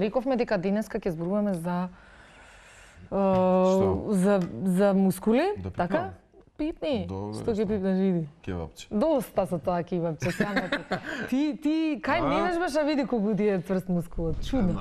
рековме дека денеска ќе зборуваме за мускули, така? Пипни. Што ќе пипнеш, види? Кебапче. Доста со тоа кебапче, само ти кај менеш баш види колку ти е тврст мускулот, чудно.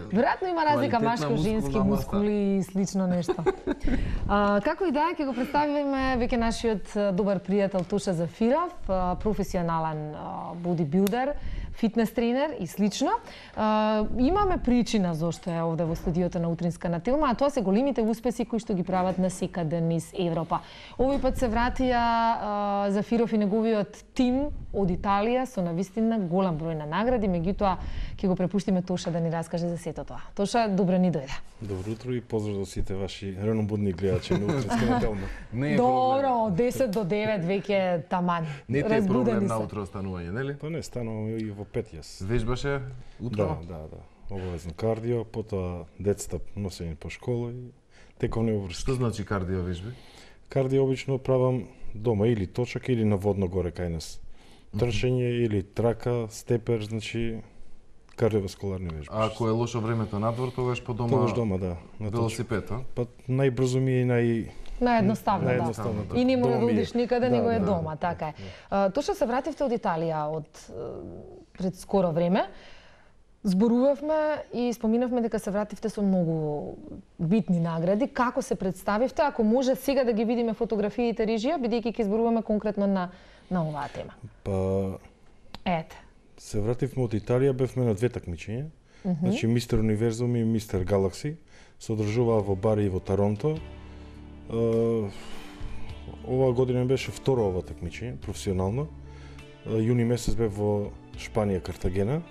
Веројатно има разлика машко-женски мускули и слично нешто. Како и да, ќе го представиме веќе нашиот добар пријател Тоша Зафиров, професионален бодибилдер, фитнес тренер и слично. Имаме причина зошто е овде во студиото на Утринска на Телма, а тоа се големите успеси кои што ги прават насекаде низ Европа. Овој пат се вратија Зафиров и неговиот тим од Италија со навистина голем број на награди, меѓутоа ќе го препуштиме Тоша да ни раскаже за сето тоа. Тоша, добро ни дојде. Добро утро и поздрав до сите ваши ранобудни гледачи на Утринска на Телма. Добро, од 10 до 9 веќе таман. Не ти е проблем на утро останување, нели? Па не, станувам и во 5 јас. Вежбаше утро? Да. Обавезно кардио, потоа децата носење по школа и тековни обврски. Што значи кардио вежби? Кардио обично правам дома или точак или на водно горе кај нас. Трчање или трака, степер, значи кардиоваскуларни вежби. А ако е лошо времето надвор, тогаш по дома? Тогаш дома, да. Велосипед, а? Па најбрзо ми е наједноставно, да. И не мора да одиш никаде, него е да, дома, така е. Тоша се вративте од Италија пред скоро време. Зборувавме и споминавме дека се вративте со многу битни награди. Како се представивте? Ако може сега да ги видиме фотографиите режија, бидејќи ќе зборуваме конкретно на оваа тема. Па Ете. Се вративме од Италија, бевме на две такмичења. Значи Мистер Универзум и Мистер Галакси се одржуваа во Бари и во Торонто. Оваа година беше второ ова такмичење, професионално. Јуни месец бев во Шпанија, Картагена.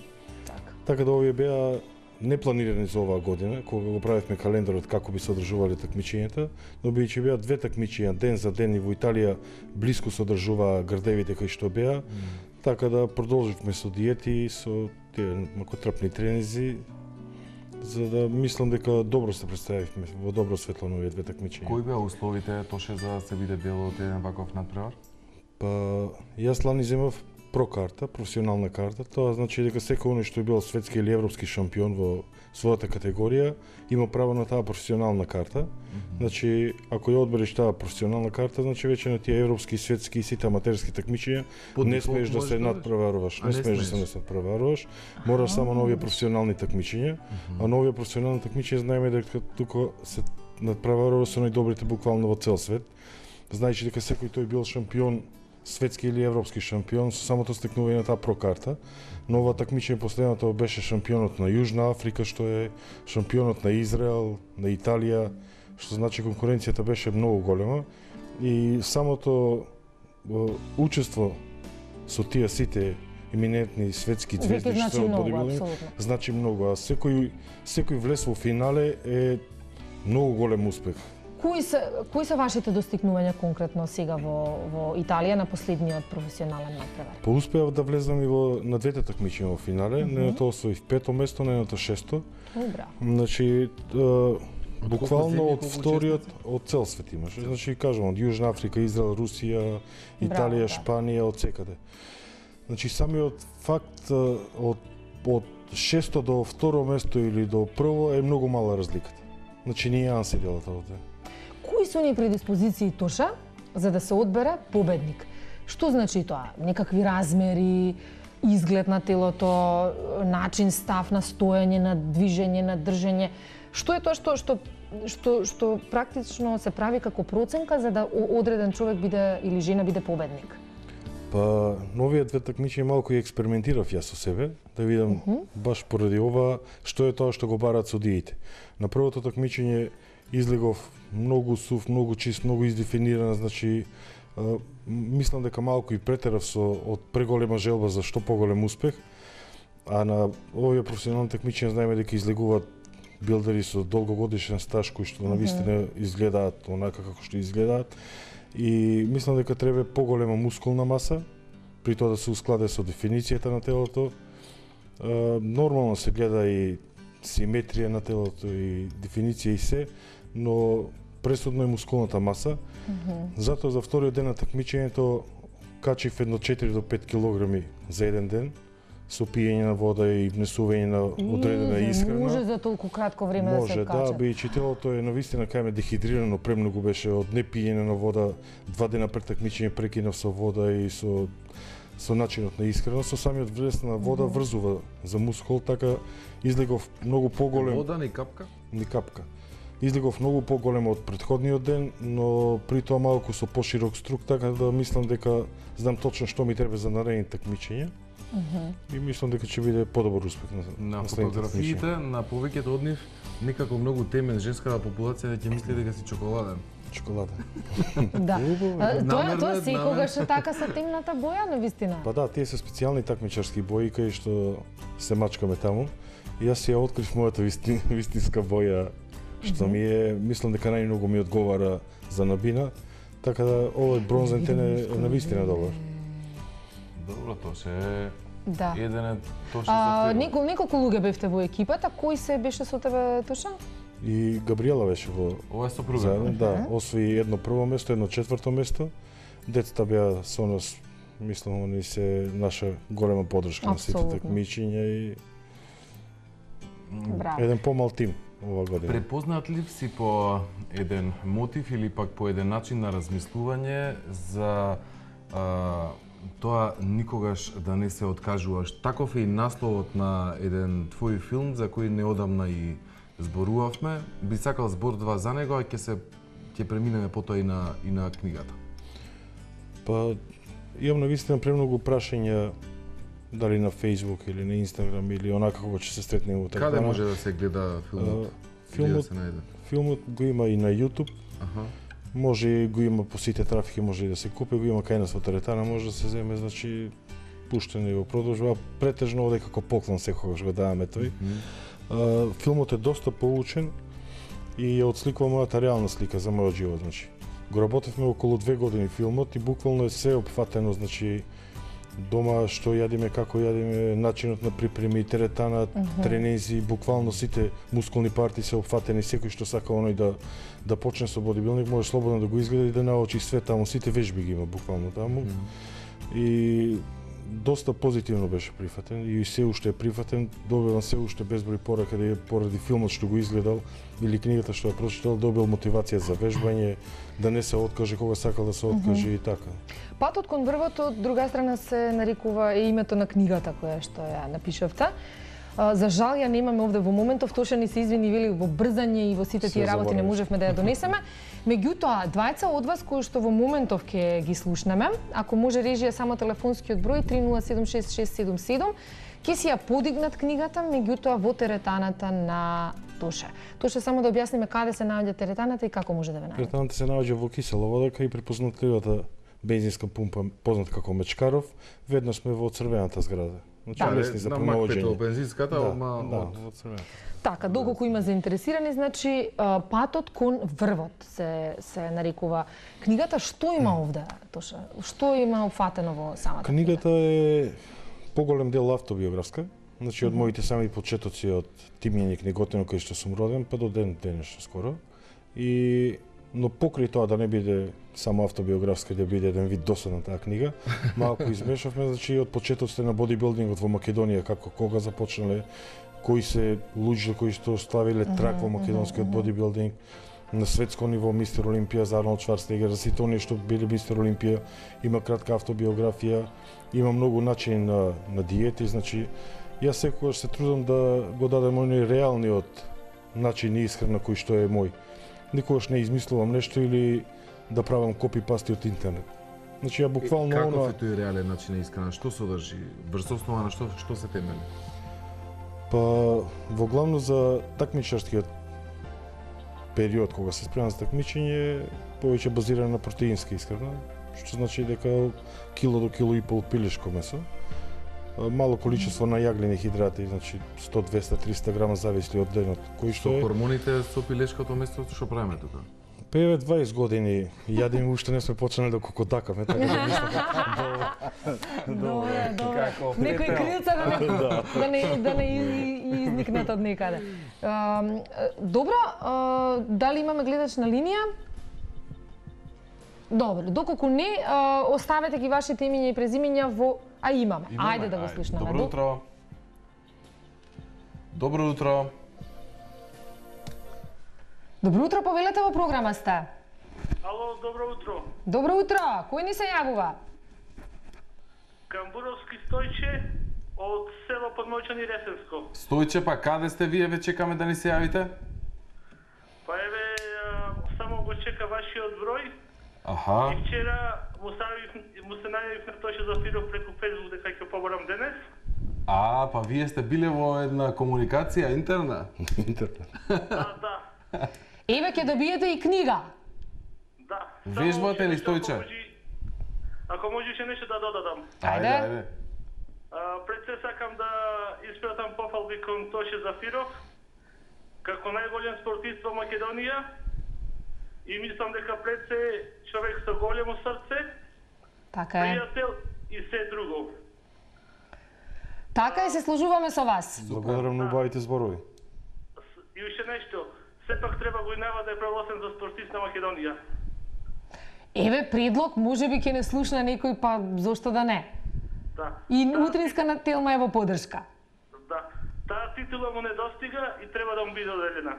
Така да овие беа непланирани за оваа година, кога го правевме календарот како би се одржувале такмичењата, но бидејќи беа две такмичења ден за ден и во Италија блиску се одржуваа градевите кои што беа, така да продолживме со диети и со тие макотрапни тренинзи, за да мислам дека добро се представивме во добро светло на овие две такмичења. Кои беа условите, Тоше, за да се биде дел од еден ваков надпревар? Па јас лани земав про карта, професионална карта, тоа значи дека секој оној што е бил светски или европски шампион во својата категорија има право на таа професионална карта. Значи, ако ја одбереш таа професионална карта, значи веќе на тие европски, светски и сите аматерски такмичења не смееш да се надпреваруваш, не смееш да се надпреваруваш, мораш само на овие професионални такмичења, а на овие професионални такмичења знаеме дека тука се надпреварува со најдобрите буквално во цел свет. Знаеш дека секој тој бил шампион, светски или европски шампион со самото стекнување на таа прокарта. Но ова такмичење последното беше шампионот на Јужна Африка, што е шампионот на Израел, на Италија, што значи конкуренцијата беше многу голема и самото учество со тие сите еминентни светски звезди што се бодибилдинг значи многу, а секој влез во финале е многу голем успех. Кои се вашите достигнувања конкретно сега во Италија на последниот професионален надпревар? Па успеав да влезам и на двете такмичења во финале, неното освоив 5-то место, неното 6-то. Добра. Значи буквално од вториот од цел свет имаш. Значи кажам од Јужна Африка, Израел, Русија, Италија, Шпанија, од секаде. Значи самиот факт од 6-то до второ место или до прво е многу мала разликата. Значи нијанси делат овде. Кои се оние предиспозиции, Тоша, за да се одбере победник? Што значи тоа? Некакви размери, изглед на телото, начин, став на стоење, на движење, на држење? Што е тоа што практично се прави како проценка за да одреден човек биде или жена биде победник? Па, новиот две такмичења малку и експериментирав јас со себе, да видам баш поради ова што е тоа што го бараат судиите. На првото такмичење излегов многу сув, многу чист, многу издефиниран, значи мислам дека малку и претерав од преголема желба за што поголем успех, а на овие професионални такмичења знаеме дека излегуваат билдери со долгогодишен стаж кои што навистина изгледаат онака како што изгледаат и мислам дека треба поголема мускулна маса, при тоа да се ускладе со дефиницијата на телото. Нормално се гледа и симетрија на телото и дефиниција и се, но пресудно е мускулната маса. Затоа за вториот ден на такмичењето качив едно 4 до 5 килограми за еден ден, со пиење на вода и внесување на одредена исхрана. Може за толку кратко време да се качат. Може, да, бидејќи телото е навистина кај дехидрирано, премногу беше од непиење на вода, 2 дена пред такмичење прекинав со вода и со начинот на исхрана, со самиот внес на вода врзува за мускул, така излегов многу поголем. Вода ни капка? Ни капка. Излегов многу поголем од претходниот ден, но при тоа малку со поширок струк, така да мислам дека знам точно што ми треба за наредните такмичења. И мислам дека ќе биде подобар успех на фотографиите, на повеќето од нив некако многу темен женската популација ќе мисли дека си чоколаден. Чоколада. Да. Тоа секогаш е така со темната боја, навистина. Па да, тие се специјални такмичарски бои кај што се мачкаме таму. И јас ја открив мојата вистинска боја, што ми е, мислам дека најмногу ми одговара за набина, така да овој бронзен тен е навистина добар. Добро, тоа се да. Еден тоа се неколку луѓе бевте во екипата, кој се беше со тебе, Тоша? И Габриела беше во... Ова е сопруга. Да, освои едно прво место, едно четврто место. Децата беа со нас, мислам, они се наша голема поддршка на сите такмичења и еден помал тим ова година. Препознат ли си по еден мотив или пак по еден начин на размислување за тоа никогаш да не се откажуваш? Таков е и насловот на еден твој филм за кој неодамна и зборувавме. Би сакал збор-два за него, а ќе преминеме потоа и на книгата. Па имам навистина премногу прашања дали на Facebook или на Instagram или онака кога ќе се стретнеме во така. Каде може да се гледа филмот? Филмот го има и на YouTube. Може го има по сите трафики, може и да се купи, го има кај нас во теретана, може да се земе, значи пуштен и го продолжува. Претежно оде како поклон секогаш го даваме тој. Филмот е доста поучен и ја отсликува мојата реална слика за мојот живот, значи. Го работевме околу 2 години филмот и буквално е се опфатено, значи дома што јадиме, како јадиме, начинот на припреми, теретана, тренинзи, буквално сите мускулни парти се опфатени, секој што сака оној да почне со бодибилдинг може слободно да го изгледа и да научи све таму, сите вежби ги има буквално таму. И доста позитивно беше прифатен и се уште е прифатен, добивам се уште безброј порака да поради филмот што го изгледал или книгата што ја прочитал, добил мотивација за вежбање, да не се откаже кога сакал да се откаже и така. Патот кон врвот од друга страна се нарекува името на книгата која што ја напишавте. За жал ја немаме овде во моментов, Тоша ни се извини, вели во брзање и во сите тие работи не можевме да ја донесеме. Меѓутоа, двајца од вас кои што во моментов ќе ги слушнеме, ако може режија само телефонскиот број 307677, ќе си ја подигнат книгата, меѓутоа во теретаната на Тоша. Тоша, само да објасниме каде се наоѓа теретаната и како може да ве најде. Теретаната се наоѓа во Кисела вода, кај препознатливата бензинска пумпа позната како Мечкаров, веднаш сме во црвената зграда. Значи лесни за промоување. Бензинската, во црвената. Така, доколку има заинтересирани, значи патот кон врвот се нарекува книгата. Што има овде, Тоша? Што има опфатено во самата книгата? Е поголем дел автобиографска. Значи од моите сами почетоци од Тимјање Книготино кај што сум роден, па до денешно скоро. Но покрај тоа да не биде само автобиографска, да биде еден вид досадна таа книга, малку измешавме, значи од почетоците на бодибилдингот во Македонија, како кога започнале, кои се луѓе кои што ставиле трак во македонскиот бодибилдинг, на светско ниво мистер Олимпија за Арнолд Шварценегер, за сите оние што биле мистер Олимпија, има кратка автобиографија, има многу начини на диети, значи јас секогаш се трудам да го дадам оној реалниот начин на исхрана кој што е мој. Никогаш не измислувам нешто или да правам копи-пасти од интернет. Значи ја буквално Каков е тој реален начин на исхрана? Што содржи? Врз основа на што се темели? Па во главно за такмичарскиот период кога се спремам за такмичење, повеќе базирано на протеинска исхрана, што значи дека кило до кило и пол пилешко месо. Мало количество на јаглени хидрати, значи 100, 200, 300 грама зависи од денот. Кој што е хормоните со пилешкото место што правиме тука? Певе 20 години јадиме, уште не сме почнали да кокотакаме, така да мислам. Добре. Некој крилца да не изникнат од некаде. Добро, дали имаме гледач на линија? Добро, доколку не, оставете ги вашите имиња и презимиња во... А имаме. Ајде да го слушнеме. Добро утро. Добро утро. Добро утро, повелете во програма сте. Ало, добро утро. Добро утро, кој ни се јавува? Камбуровски Стојче од село Подмојчани Ресенско. Стојче, па каде сте вие, ве чекаме да ни се јавите? Па еве, само го чека вашиот број. Аха. И вчера му се најавив на Тоше Зафиров преку Facebook дека ќе побарам денес. Па вие сте биле во една комуникација интерна? Да. Еве ќе добиете и книга. Да. Вежбате ли, Стојче? Ако можеше нешто да додадам. Ајде. Пред се сакам да испратам пофалби кон Тоше Зафиров како најголем спортист во Македонија и мислам дека пред се човек со големо срце, Така е. пријател и се друго. Така е, се сложуваме со вас. Благодарам на убавите зборови. И уште нешто, сепак треба го инава да е прогласен за спортист на Македонија. Еве предлог, можеби ќе не слушна некој, па зошто да не? Да. И утринска на Телма е во поддршка. Да. Таа титула му не достига и треба да му биде оделена.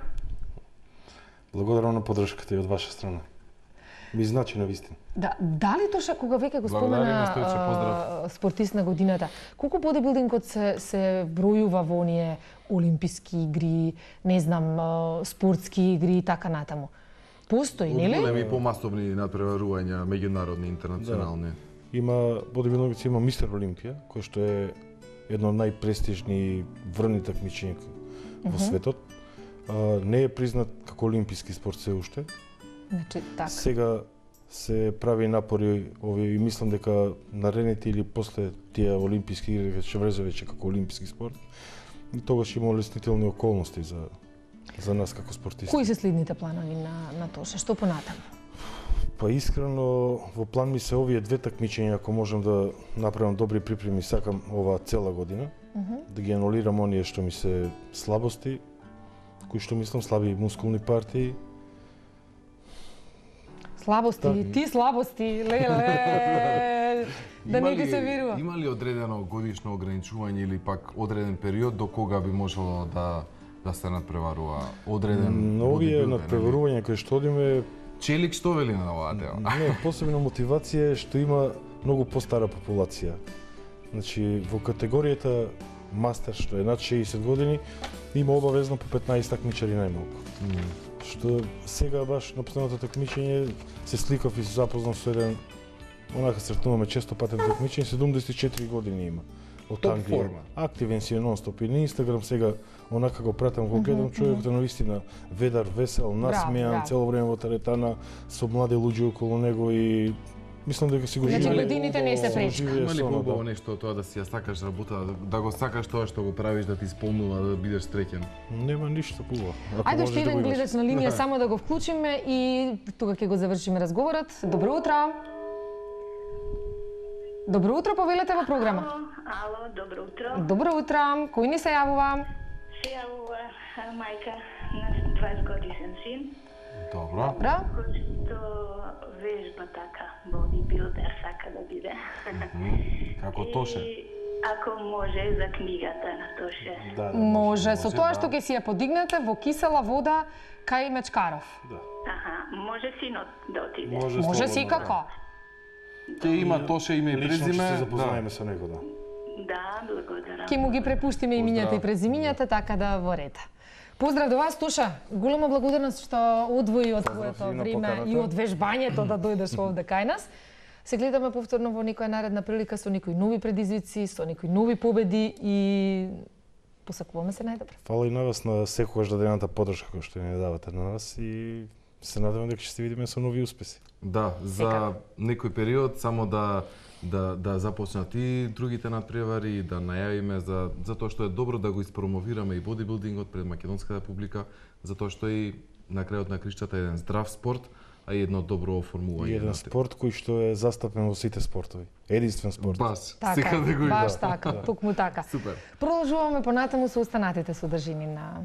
Благодарам на поддршката и од ваша страна. Ми значи на вистина. Да, дали Тоша, кога веќе го Благодариме, спомена Стојче, поздрав. спортист на годината, колку бодибилдингот се бројува во оние олимписки игри, не знам, спортски игри и така натаму? Постои, нели? Големи помасовни надпреварувања, меѓународни, интернационални. Има бодибилдингот, има Мистер Олимпија, кој што е едно од најпрестижни врвни такмичења во светот. Не е признат како олимписки спорт се уште. Значи, така. Сега се прави напори и мислам дека наредните или после тие олимписки игри ќе влезе веќе како олимписки спорт. И тогаш има олеснителни околности за нас како спортисти. Кои се следните планови на Тоша? Што понатаму? Па искрено во план ми се овие две такмичења, ако можам да направам добри припреми, сакам оваа цела година, да ги анулирам оние што ми се слабости, кои што мислам слаби мускулни партии. Слабости, ти слабости, леле, да не ти се верува. Има ли одредено годишно ограничување или пак одреден период до кога би можело да се надпреварува одреден Но овие бодибилдер, надпреварувања кои што одиме, Челик што вели на оваа тема? не, посебна мотивација е што има многу постара популација. Значи, во категоријата мастер, што е над 60 години, има обавезно по 15 такмичари најмалку. Што сега баш на последното такмичење се сликав и се запознав со еден, онака сретнуваме често патен такмичење, 74 години има. Од Топ Англија. форма. Активен си е нон-стоп и на Инстаграм сега онака го пратам, го гледам, човекот е навистина ведар, весел, насмејан, браво. цело време во теретана со млади луѓе околу него и мислам дека си го Значи, живее. годините не се пречка. живее Има ли со оно, поубаво да. нешто од тоа да си ја сакаш работа, да го сакаш тоа што го правиш, да ти исполнува, да бидеш среќен? Нема ништо побаво. Ако Ајде можеш уште да еден го имаш. гледач на линија, само да го вклучиме и тога ќе го завршиме разговорот. Добро утро. Добро утро, повелете во програма. Ало, добро утро. Добро утро. Кој ни се јавува? Се јавува мајка на 20 годишен син, Добро. Добро. кој што вежба така, бодибилдер сака да биде. Како Тоше. И ако може за книгата на Тоше. Да, Може, со може, тоа да. што ќе си ја подигнете во кисела вода кај Мечкаров. Аха, може синот да отиде. Може слободно, секако. Ќе има Тоше име и Лично ќе презиме. се запознаеме со него, да. Да, благодарам. Ќе му ги препуштиме имињата и презимињата, така да во ред. Поздрав до вас, Тоша. Голема благодарност што одвои од Поздрав твоето и на време поканата. и од вежбањето да дојдеш овде кај нас. Се гледаме повторно во некоја наредна прилика со некои нови предизвици, со некои нови победи и посакуваме се најдобро. Фала и на вас на секогаш дадената поддршка која што ни давате на нас и се надевам дека ќе се видиме со нови успеси. Да, за некој период само да започнат и другите надпревари и да најавиме за тоа што е добро да го испромовираме и бодибилдингот пред македонската публика, затоа што и на крајот на кришчата е еден здрав спорт, а и едно добро оформување. И еден спорт кој што е застапен во сите спортови. Единствен спорт. Бас, Така, секаде го има. баш така, токму така. Супер. Продолжуваме понатаму со останатите содржини на